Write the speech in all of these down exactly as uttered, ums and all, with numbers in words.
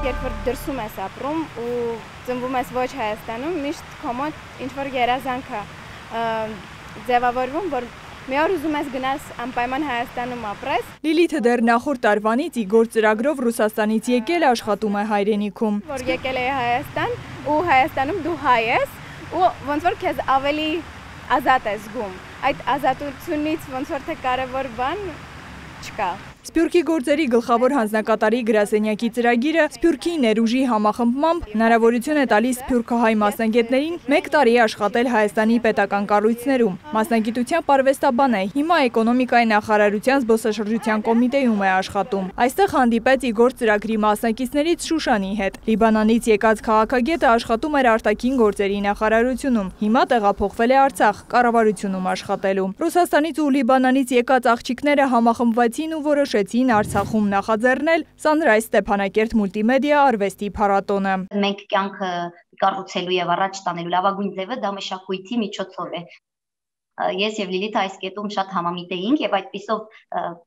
Երբ որ դրսում ես ապրում ու ծնվում ես ոչ Հայաստանում, միշտ քո մոտ ինչ-որ երազանք է ձևավորվում, որ մի օր ուզում ես գնաս անպայման Հայաստանում ապրես։ Լիլիթը դեռ նախորդ տարվանից Իգոր ծրագրով Ռուսաստանից եկել աշխատում է հայրենիքում։ Որ եկել է Հայաստան ու Հայաստանում դու հայ ես ու ոնց որ քեզ ավելի ազատ ես զգում։ Այդ ազատությունից ոնց որ թե կարևոր բան չկա։ Սփյուռքի գործերի գլխավոր հանձնակատարի գրասենյակի ծրագիրը Սփյուռքի ներուժի համախմբմամբ հնարավորություն է տալիս սփյուռքահայ մասնագետներին մեկ տարի աշխատել Հայաստանի պետական կառույցներում։ Մասնագիտությամբ արվեստաբան է, հիմա էկոնոմիկայի նախարարության զբոսաշրջության կոմիտեում է աշխատում։ Այստեղ հանդիպեց Իգոր ծրագրի մասնակիցներից Շուշանի հետ։ Լիբանանից եկած քաղաքագետը աշխատում էր արտաքին գործերի նախարարությունում, հիմա տեղափոխվել է Արցախ, կառավարությունում աշխատելու։ Ռուսաստանից ու Լիբանանից եկած աղջիկները համախմբվեցին ու որոշ Շեցին Արցախում նախաձեռնել Sunrise Ստեփանակերտ մուլտիմեդիա արվեստի փառատոնը։ Մենք կյանքը կառուցելու եւ առաջ տանելու լավագույն ձևը դա մշակույթի միջոցով է։ Ես եւ Լիլիթը այս կետում շատ համամիտ էինք եւ այդպիսով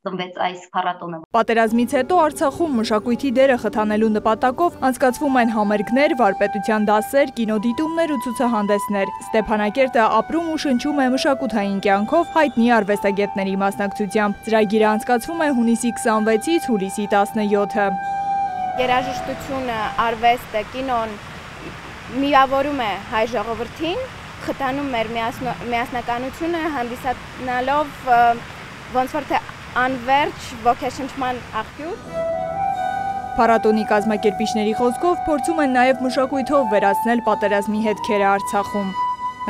ծնվեց այս փառատոնը։ Պատերազմից հետո Արցախում մշակույթի դերը խթանելու նպատակով անցկացվում են համերգներ, վարպետության դասեր, կինոդիտումներ ու ցուցահանդեսներ։ Ստեփանակերտը ապրում ու շնչում է մշակութային կյանքով հայտնի արվեստագետների մասնակցությամբ։ Ծրագիրը անցկացվում է հունիսի քսանվեցից հուլիսի տասնյոթը։ Երաժշտությունը, արվեստը, կինոն միավորում է հայ ժողովրդին, խթանում մեր միասնականությունը, հանդիսանալով ոնց որ թե անվերջ ոգեշնչման աղբյուր։ Փառատոնի կազմակերպիչների խոսքով փորձում են նաև մշակույթով վերացնել պատերազմի հետքերը Արցախում։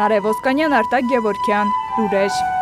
Նարեկ Ոսկանյան, Արտակ Գևորգյան, Լուրեր։